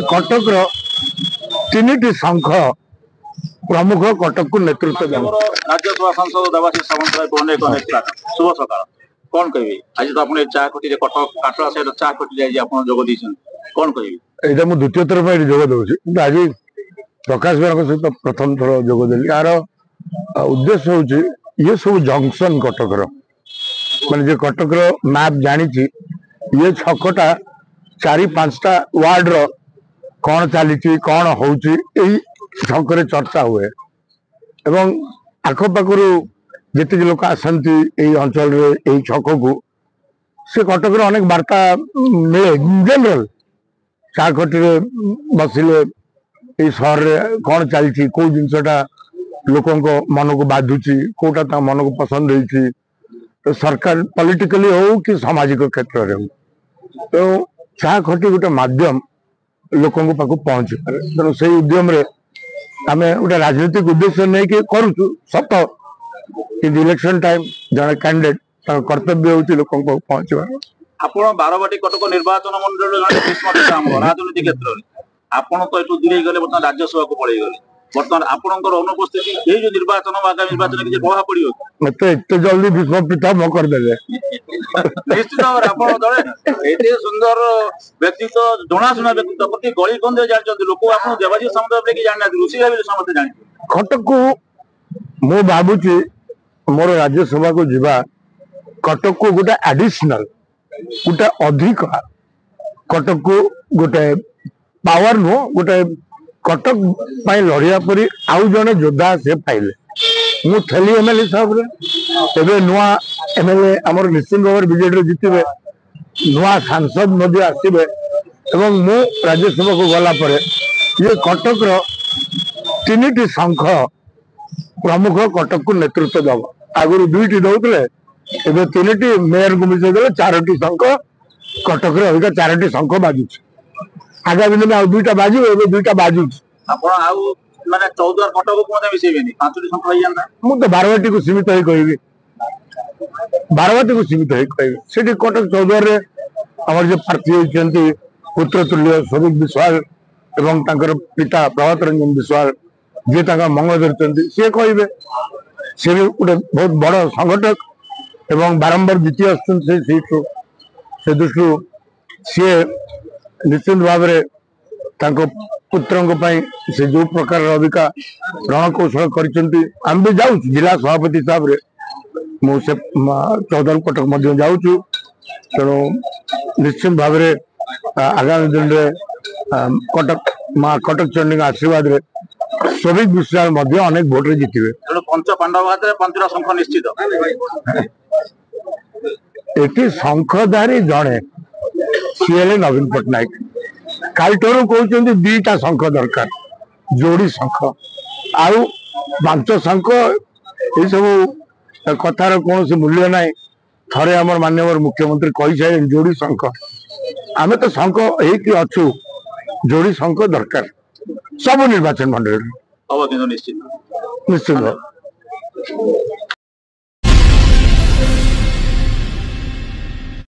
କଟକର ତିନିଟି ଶଙ୍ଖ ପ୍ରମୁଖ କଟକକୁ ନେତୃତ୍ୱ ଦେବ। ରାଜ୍ୟସଭା ସାଂସଦ ଦେବାଶିଷ ସାମନ୍ତରାୟ, ଅନେକ ଅନେକ ଶୁଭ ସକାଳ। କଣ କହିବେ, ଆଜି ତ ଆପଣ ଏ ଚା ଖଟିରେ, କଟକ କାଟଳା ସାହିର ଚା ଖଟିରେ ଆଜି ଆପଣ ଯୋଗ ଦେଇଛନ୍ତି, କଣ କହିବେ? ଏଇଟା ମୁଁ ଦ୍ୱିତୀୟ ଥର ପାଇଁ ଏଠି ଯୋଗ ଦଉଛି, କିନ୍ତୁ ଆଜି ପ୍ରକାଶ ଭାଇଙ୍କ ସହିତ ପ୍ରଥମ ଥର ଯୋଗ ଦେଲି। ଏହାର ଉଦ୍ଦେଶ୍ୟ ହଉଛି ଇଏ ସବୁ ଜଙ୍କସନ କଟକର, ମାନେ ଯେ କଟକର ମ୍ୟାପ୍ ଜାଣିଛି, ଇଏ ଛକଟା 4-5ଟା ୱାର୍ଡର କଣ ଚାଲିଛି, କଣ ହଉଛି, ଏଇ ଛକରେ ଚର୍ଚ୍ଚା ହୁଏ। ଏବଂ ଆଖପାଖରୁ ଯେତିକି ଲୋକ ଆସନ୍ତି ଏଇ ଅଞ୍ଚଳରେ, ଏଇ ଛକକୁ, ସେ କଟକର ଅନେକ ବାର୍ତ୍ତା ମିଳେ। ଜେନେରାଲ ଚା ଖଟିରେ ବସିଲେ ଏଇ ସହରରେ କଣ ଚାଲିଛି, କୋଉ ଜିନିଷଟା ଲୋକଙ୍କ ମନକୁ ବାଧୁଛି, କୋଉଟା ତାଙ୍କ ମନକୁ ପସନ୍ଦ ହେଇଛି, ସରକାର ପଲିଟିକାଲି ହଉ କି ସାମାଜିକ କ୍ଷେତ୍ରରେ ହଉ। ତେଣୁ ଚା ଖଟି ଗୋଟେ ମାଧ୍ୟମ ଲୋକଙ୍କ ପାଖକୁ ପହଞ୍ଚି ପାରେ। ତେଣୁ ସେଇ ଉଦ୍ୟମରେ ଆମେ ଗୋଟେ ରାଜନୈତିକ ଉଦ୍ଦେଶ୍ୟ ନେଇକି କରୁଛୁ ସତ, କିନ୍ତୁ ଇଲେକ୍ସନ ଟାଇମ ଜଣେ କ୍ୟାଣ୍ଡିଡେଟ୍ ତାଙ୍କ କର୍ତ୍ତବ୍ୟ ହଉଛି ଲୋକଙ୍କ ପାଖକୁ ପହଞ୍ଚିବା। ଆପଣ ବାରବାଟୀ କଟକ ନିର୍ବାଚନ ମଣ୍ଡଳୀର ଜଣେ ଭୀଷ୍ମ ପିତାମହ ରାଜନୀତି କ୍ଷେତ୍ରରେ। ଆପଣ ତ ଏଠୁ ଦୂରେଇ ଗଲେ, ବର୍ତ୍ତମାନ ରାଜ୍ୟସଭାକୁ ପଳେଇ ଗଲେ। ବର୍ତ୍ତମାନ ଆପଣଙ୍କର ଅନୁପସ୍ଥିତି ଏଇ ଯୋଉ ନିର୍ବାଚନ, ଆଗାମୀ ନିର୍ବାଚନ କିଛି ପ୍ରଭାବ ପଡିବ? ମତେ ଏତେ ଜଲ୍ଦି ଭୀଷ୍ମ ପିତାମହ କରିଦେଲେ? ନିଶ୍ଚିତ ଭାବରେ ଆପଣ ଜଣେ ଏତେ ସୁନ୍ଦର ବ୍ୟକ୍ତିତ୍ୱ, ଜଣାଶୁଣା ବ୍ୟକ୍ତିତ୍ୱ, ପ୍ରତି ଗଳି କନ୍ଦିରେ ଜାଣିଛନ୍ତି ଲୋକ। ଆପଣ ଦେବାଶିଷ ସାମନ୍ତରାୟ ବୋଲି ଜାଣିନାହାନ୍ତି, ଋଷି ଭାବିଲେ ସମସ୍ତେ ଜାଣିଛନ୍ତି। କଟକକୁ ମୁଁ ଭାବୁଛି ମୋର ରାଜ୍ୟସଭାକୁ ଯିବା କଟକକୁ ଗୋଟେ ଆଡିସନାଲ, ଗୋଟେ ଅଧିକ କଟକକୁ ଗୋଟେ ପାୱାର ନୁହଁ, ଗୋଟେ କଟକ ପାଇଁ ଲଢିବା ପରି ଆଉ ଜଣେ ଯୋଦ୍ଧା ସେ ପାଇଲେ। ମୁଁ ଥିଲି ଏମଏଲଏ ହିସାବରେ, ଏବେ ନୂଆ ଏମଏଲଏ ଆମର ନିଶ୍ଚିତ ଭାବରେ ବିଜେଡିରେ ଜିତିବେ, ନୂଆ ସାଂସଦ ମଧ୍ୟ ଆସିବେ, ଏବଂ ମୁଁ ରାଜ୍ୟସଭାକୁ ଗଲା ପରେ ଇଏ କଟକର ତିନିଟି ଶଙ୍ଖ ପ୍ରମୁଖ କଟକକୁ ନେତୃତ୍ୱ ଦେବ। ଆଗରୁ 2ଟି ଦଉଥିଲେ, ଏବେ 3ଟି, ମେୟରକୁ ମିଶେଇ ଦେଲେ 4ଟି ଶଙ୍ଖ କଟକରେ। ଅବିକା 4ଟି ଶଙ୍ଖ ବାଜୁଛି, ଆଗାମୀ ଦିନେ ଆଉ 2ଟା ବାଜିବ, ଏବେ 2ଟା ବାଜୁଛି। ଆପଣ ଆଉ ମାନେ ଚୌଦ୍ୱାର କଟକକୁ ମଧ୍ୟ ମିଶେଇବେନି, 5ଟି ଶଙ୍ଖ ହେଇଯାନ୍ତା? ମୁଁ ତ ବାରବାଟୀକୁ ସୀମିତ ହେଇ କହିବି, ବାରବାଟୀକୁ ସୀମିତ ହେଇ କହିବି। ସେଠି କଟକ ଚୌଦ୍ୱାରରେ ଆମର ଯେ ପ୍ରାର୍ଥୀ ହେଇଛନ୍ତି ପୁତ୍ର ତୁଲ୍ୟ ସ୍ୱରୂପ ବିଶ୍ୱାଳ ଏବଂ ତାଙ୍କର ପିତା ପ୍ରଭାତ ରଞ୍ଜନ ବିଶ୍ୱାଳ, ଯିଏ ତାଙ୍କ ମଙ୍ଗ ଧରିଛନ୍ତି, ସିଏ କହିବେ। ସିଏ ବି ଗୋଟେ ବହୁତ ବଡ ସଂଗଠକ ଏବଂ ବାରମ୍ବାର ଜିତି ଆସୁଛନ୍ତି ସେ ସିଟରୁ। ସେ ଦୃଷ୍ଟିରୁ ସିଏ ନିଶ୍ଚିତ ଭାବରେ ତାଙ୍କ ପୁତ୍ରଙ୍କ ପାଇଁ ସେ ଯୋଉ ପ୍ରକାରର ଅବିକା ରଣକୌଶଳ କରିଛନ୍ତି, ଆମେ ବି ଯାଉଛୁ ଜିଲ୍ଲା ସଭାପତି ହିସାବରେ, ମୁଁ ସେ ଚୌଦ୍ୱାର କଟକ ମଧ୍ୟ ଯାଉଛୁ। ତେଣୁ ନିଶ୍ଚିତ ଭାବରେ ଆଗାମୀ ଦିନରେ କଟକ ମା କଟକ ଚଣ୍ଡୀଙ୍କ ଆଶୀର୍ବାଦରେ ସୌଭିକ ବିଶ୍ୱାଳ ମଧ୍ୟ ଅନେକ ଭୋଟରେ ଜିତିବେ। ତେଣୁ ପଞ୍ଚ ପାଣ୍ଡବ ହାତରେ 5ଟା ଶଙ୍ଖ ନିଶ୍ଚିତ। ଏଠି ଶଙ୍ଖଧାରୀ ଜଣେ, ସିଏ ହେଲେ ନବୀନ ପଟ୍ଟନାୟକ। କାଲିଠାରୁ କହୁଛନ୍ତି 2ଟା ଶଙ୍ଖ ଦରକାର, ଯୋଡି ଶଙ୍ଖ, ଆଉ 5 ଶଙ୍ଖ ଏସବୁ କଥାର କୌଣସି ମୂଲ୍ୟ ନାହିଁ। ଥରେ ଆମର ମାନ୍ୟବର ମୁଖ୍ୟମନ୍ତ୍ରୀ କହିସାରିଲେଣି ଯୋଡି ଶଙ୍ଖ, ଆମେ ତ ଶଙ୍ଖ ହେଇକି ଅଛୁ, ଯୋଡି ଶଙ୍ଖ ଦରକାର ସବୁ ନିର୍ବାଚନ ମଣ୍ଡଳୀରେ ହବ, କିନ୍ତୁ ନିଶ୍ଚିତ ନିଶ୍ଚିତ।